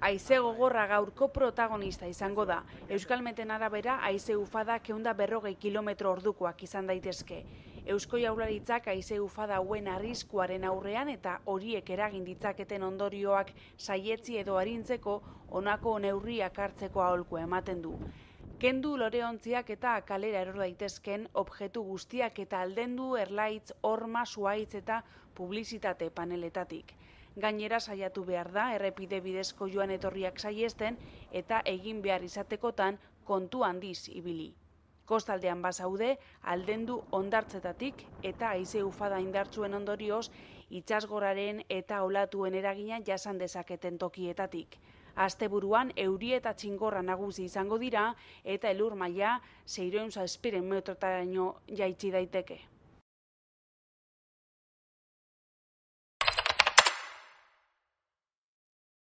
Haize gogorra gaurko protagonista izango da. Euskalmeten arabera, haize ufada 140 km/ordukoak izan daitezke. Eusko Jaurlaritzak haize ufada hauen arriskuaren aurrean eta horiek eragin ditzaketen ondorioak saietsi edo arintzeko honako neurriak hartzeko aholkua ematen du. Kendu loreontziak eta kalera eror daitezken objektu guztiak eta aldendu erlaitz, horma, zuhaitz eta publizitate paneletatik. Gainera saiatu behar da errepide bidezko joan etorriak saihesten eta egin behar izatekotan kontu handiz ibili. Kostaldean bazaude, aldendu hondartzetatik eta haize ufada indartsuen ondorioz itsasgoraren eta olatuen eragina jasan dezaketen tokietatik. Asteburuan euri eta txingorra nagusi izango dira eta elur maila 607 metrotaraino jaitsi daiteke.